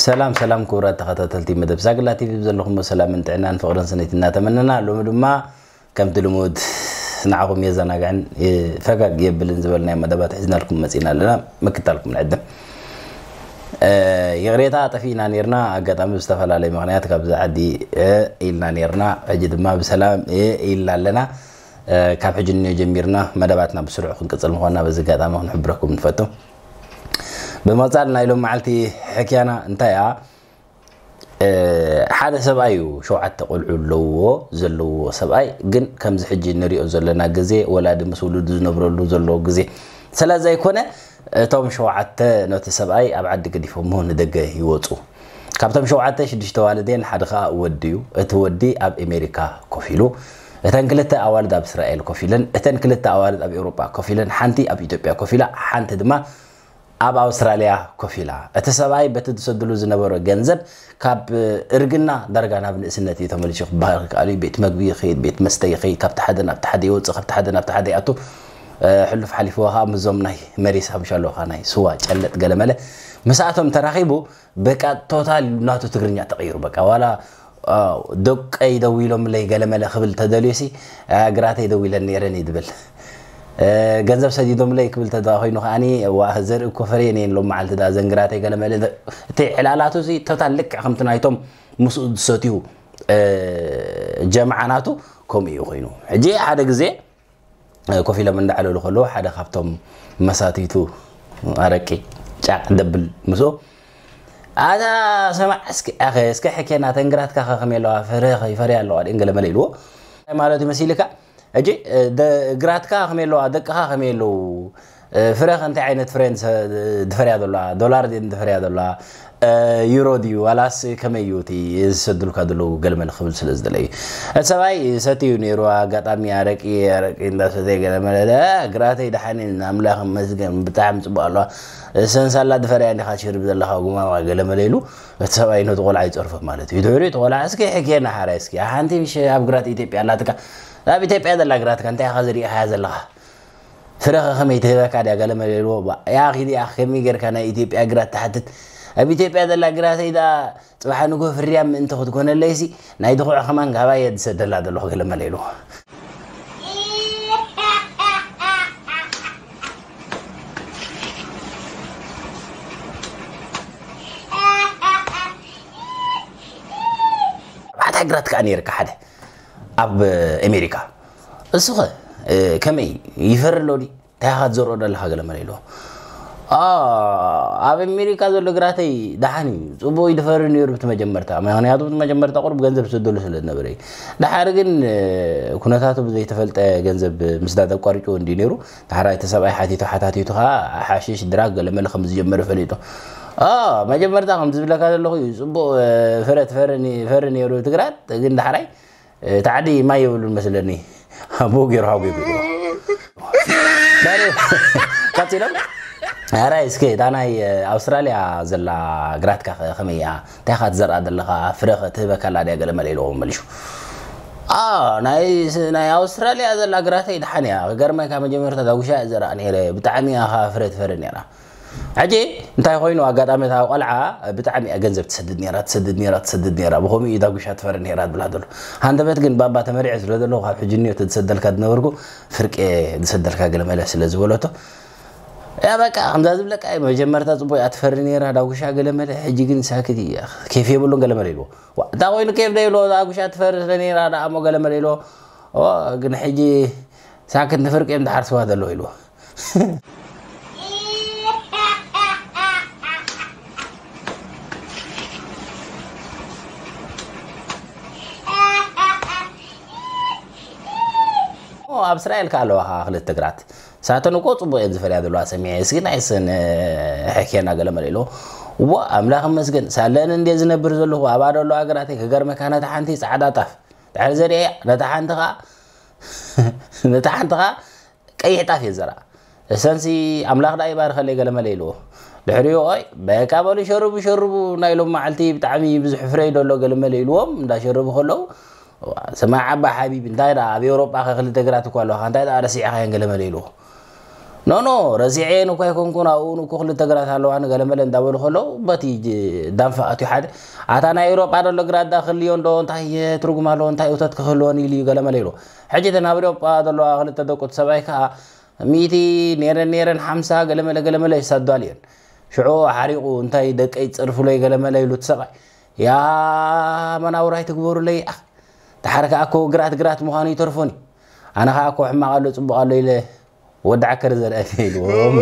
ሰላም ሰላም ክቡራት ተኸታተልቲ መደብ ሳግላ ቲቪ፣ ብዘለኹሞ ሰላምን ጥዕናን ፍቕርን ስኒት እናተመነና፣ ሎሚ ድማ ከምቲ ልሙድ ንዓኹም የዘናግዕን ፈገግ የብልን ዝበልናዮ መደባት ሒዝናልኩም መፂና ኣለና። ምክታልኩም ንዕድም። ይቕሬታ ጠፊእና ነርና፣ ኣጋጣሚ ብዝተፈላለየ ምኽንያት ካብዚ ዓዲ ኢልና ነርና። ሕጂ ድማ ብሰላም ኢልና ኣለና። ካብ ሕጂ ንዮ ጀሚርና መደባትና ብስሩዕ ክንቅፅል ምዃንና በዚ ኣጋጣሚ ክንሕብረኩም ንፈቱ። ብምቕፃል ናይ ሎም መዓልቲ ሕክያና እንታይ እያ? ሓደ ሰብኣይ እዩ፣ ሸውዓተ ቆልዑ ኣለውዎ፣ ዘለውዎ ሰብኣይ ግን ከምዚ ሕጂ ንሪኦ ዘለና ግዜ ወላዲ ምስ ውሉዱ ዝነብረሉ ዘለዎ ግዜ ስለ ዘይኮነ፣ እቶም ሸውዓተ ነቲ ሰብኣይ ኣብ ዓዲ ገዲፎሞ ንደገ ይወፁ። ካብቶም ሸውዓተ ሽዱሽተ ዋልዴን ሓደ ከዓ ወዲ እዩ። እቲ ወዲ ኣብ ኣሜሪካ ኮፍ ኢሉ፣ እተን ክልተ ኣዋልድ ኣብ እስራኤል ኮፍ ኢለን፣ እተን ክልተ ኣዋልድ ኣብ ኤውሮጳ ኮፍ ኢለን፣ ሓንቲ ኣብ ኢትዮጵያ ኮፍ ኢላ፣ ሓንቲ ድማ ኣብ ኣውስትራልያ ኮፍ ኢላ። እቲ ሰብኣይ በቲ ዝሰድሉ ዝነበሮ ገንዘብ ካብ እርግና ዳርጋ ናብ ንእስነት እዩ ተመሊሱ ክበሃል ይከኣል እዩ። ቤት መግቢ ይኸይድ፣ ቤት መስተ ይኸይድ፣ ካብቲ ሓደ ናብቲ ሓደ ይወፅእ፣ ካብቲ ሓደ ናብቲ ሓደ ይኣቱ። ሕሉፍ ሓሊፍዎ ከዓ ምስዞም ናይ መሪስ ሓሙሻ ኣለውካ ናይ ስዋ ጨለጥ ገለመለ ምስኣቶም ተራኺቡ በቃ ቶታል ናቱ ትግርኛ ተቐይሩ። በቃ ዋላ ደቀይ ደዊሎምለይ ገለመለ ክብል ተደልዩሲ፣ ግራት ኣይደዊለን ነይረን እዩ ድብል። ገንዘብ ሰዲዶምለይ ክብል ተዳ ኮይኑ ከዓኒ፣ ዋ ዘርኢ እኮ ፈርየን እየን ሎም መዓልቲ ዳ ዘንግራተይ ገለመለ። እቲ ዕላላቱ እዚ ቶታል ልክዕ ከምቲ ናይቶም ምስኡ ዝሰትዩ ጀምዓ ናቱ ከምኡ እዩ ኮይኑ። ሕጂ ሓደ ግዜ ኮፍ ኢሎም እንዳዕለሉ ከለዉ ሓደ ካብቶም መሳትይቱ ኣረቂ ጫቕ ደብል ምስኡ፣ ኣታ ሰማዕ እስኪ ኣኸ እስከ ሕኬና ተንግራትካ ከ ከመይ ኣለዋ፣ ፈረ ይፈርያ ኣለዋ ድን ገለመለ ኢልዎ። እንታይ ማለት እዩ መሲልካ? ሕጂ ግራትካ ከመይ ኣለዋ፣ ደቅኻ ከመይ ኣለዉ፣ ፍረኸ እንታይ ዓይነት ፍረ ድፈርያ ዘለዋ፣ ዶላር ድፈርያ ዘለዋ፣ ዩሮ ድዩ ዋላስ ከመይ እዩ እቲ ዝሰድልካ ዘለዉ ገለመለ ክብል ስለ ዝደለ እዩ። እቲ ሰብኣይ ሰትዩ ነይሩ፣ ኣጋጣሚ ኣረቂ ኣረቂ እንዳሰተየ ገለመለ፣ ግራተይ ደሓን ኣምላኽ ይመስገን ብጣዕሚ ፅቡቅ ኣለዋ። ሰንሳላ ድፈርያ እንዲኻ ትሽርብ ዘለኻ ጉማማ ገለመለ ኢሉ እቲ ሰብኣይ ነቲ ቆልዓ ይፀርፎ ማለት እዩ። ድሕሪኡ እቲ ቆልዓ እስኪ ሕኬና ሓራይ እስኪ ሓንቲ ምሽ ኣብ ግራት ኢትዮጵያ ኣላትካ፣ ኣብ ኢትዮጵያ ዘላ ግራትካ እንታይ ኢኻ ዝሪኢኻያ ዘለኻ? ፍረኸ ከመይ ትህበካ ድያ ገለመለ ኢልዎ። ያ ኺድ ያ ከመይ ጌርካ ናይ ኢትዮጵያ ግራት ትሓትት? ኣብ ኢትዮጵያ ዘላ ግራተይ ደኣ ፅባሕ ንግሆ ፍርያም ምእንቲ ክትኮነለይሲ ናይ ድኹዕ ከማን ካባየ ዝሰደላ ዘለኹ ገለመለ ኢልዎ። ኣታ ግራት ከዓ ነይርካ ሓደ ኣብ ኣሜሪካ እሱኸ ከመይ ይፈሪ ኣሎ ዲ እንታይ ኢኻ ትዘርኦ ዘለኻ ገለመለ ኢልዎ። ኣብ ኣሜሪካ ዘሎ ግራተይ ደሓን እዩ፣ ፅቡቅ እዩ ድፈሪ ነይሩ ብቲ መጀመርታ። ምክንያቱ ብቲ መጀመርታ ቁሩብ ገንዘብ ዝሰደሉ ስለ ዝነበረ እዩ። ደሓር ግን ኩነታቱ ብዘይተፈልጠ ገንዘብ ምስዳድ ኣቋሪጭዎ እንዲ ነይሩ። ዳሕራይ እቲ ሰብኣይ ሓቲቱ ሓታቲቱ ከዓ ሓሽሽ ድራግ ገለመለ ከም ዝጀመረ ፈሊጡ። መጀመርታ ከም ዝብለካ ዘለኹ እዩ፣ ፅቡቅ ፍረ ትፈሪ ነይሩ እቲ ግራት፣ ግን ዳሕራይ እቲ ዓዲ ማይ የብሉን መስለኒ። ኣቦ ገይሩ ሓጎይ ገይሩ ቀፂሎም። ኣራይ እስከ እታ ናይ ኣውስትራልያ ዘላ ግራትካ ከ ከመይ እያ? እንታይ ኢኻ ትዘርኣ ዘለኻ? ፍረ ከ ትህበካ ኣላ ድያ? ገለ መለ ኢልዎ መሊሹ። ናይ ኣውስትራልያ ዘላ ግራተይ ደሓን እያ። ክገርመካ መጀመርታ ዳጉሻ እየ ዘርኣ ነይረ። ብጣዕሚ እያ ከኣ ፍረ ትፈሪ ነይራ። ሕጂ እንታይ ኮይኑ ኣጋጣሚ እታ ቆልዓ ብጣዕሚ እያ ገንዘብ ትሰድድ ነይራ ትሰድድ ነይራ ትሰድድ ነይራ ብኸምኡ እዩ ዳጉሻ ትፈሪ ነይራ ዝብላ ዘሎ። ሃንደበት ግን ባባ ተመሪዐ ስለ ዘለኹ ካብ ሕጂ እኒኦ ተዝሰደልካ ዝነበርኩ ፍርቂ ዝሰደልካ ገለ መለ ስለ ዝበለቶ እያ በቃ ከምዛ ዝብለካ እዩ። መጀመርታ ፅቡቅ እያ ትፈሪ ነይራ ዳጉሻ ገለ መለ ሕጂ ግን ሳክት እያ ኬፍ የብሉን ገለ መለ ኢልዎ። እታ ኮይኑ ኬፍ ዶ ኢልዎ ዳጉሻ ትፈሪ ስለ ነይራ ደኣ እሞ ገለ መለ ኢልዎ። ግን ሕጂ ሳክት ንፍርቂ እዮም ዝሓርስዋ ዘለዉ ኢልዎ። ኣብ እስራኤል ከ ኣለዋ ከዓ ክልተ ግራት ሳተን እኮ ፅቡቅ እየን ዝፈርያ ዘለዋ ሰሚዐ እስኪ ናይ ስን ሕክየና ገለ መለ ኢልዎ። ዋ ኣምላኽ መስገን ሳለን እንደ ዝነብር ዘለኹ ኣባዶ ኣለዋ ግራተይ ክገርመካ ነታ ሓንቲ ፃዕዳ ጣፍ ድሕሪ ዘሪአ ነታ ሓንቲ ከዓ ነታ ሓንቲ ከዓ ቀይሕ ጣፍ እየ ዝዘርኣ። እሰንሲ ኣምላኽ ደኣ ይባርኸለይ ገለ መለ ኢልዎ። ድሕሪኡ ኦይ በቃ በሉ ሸርቡ ሸርቡ ናይ ሎም መዓልቲ ብጣዕሚ ብዙሕ ፍረ እዩ ደሎ ገለ መለ ኢልዎም እንዳሸረቡ ከለዉ ስማዕ ኣባ ሓቢቢ እንታይ ደኣ ኣብ ኤውሮጳ ከ ክልተ ግራት እኳ ኣለዋኻ እንታይ ደኣ ረሲዕኻየን ገለ መለ ኢልዎ። ኖ ኖ፣ ረሲዐየን እኳ ኣይኮንኩን። ኣብኡ እኮ ክልተ ግራት ኣለዋ፣ ንገለመለ እንዳበሉ ከለዉ በቲ ጅ- ዳንፋ ኣትዩ ሓደ፣ ኣታ ናይ ኤውሮጳ ደሎ ግራት ዳ ክልዮ እንዶ እንታይ ትርጉም ኣለዎ? እንታይ እቶት ክህልወን ኢሉ እዩ ገለመለ ኢሉ። ሕጂ እተን ኣብ ኤውሮጳ ዘለዋ ክልተ ደቁ እቲ ሰብኣይ ከዓ ሚእቲ ነይረን ነይረን ሓምሳ ገለመለ ገለመለ ይሳዱ ኣልየን። ሽዑ ሓሪቑ እንታይ ደቀይ ጸርፉለይ ገለመለ ኢሉ እቲ ሰብኣይ፣ ያ መናውራይ ትግበሩለይ። ኣኽ፣ ደሓር ከኣ እኮ ግራት ግራት ምዃኑ ይተርፎኒ። ኣነ ከኣ እኮ ሕማቕ ኣሎ ጽቡቕ ኣሎ ኢለ ወዲ ዓከር ዘርአኒ ኢልዎም።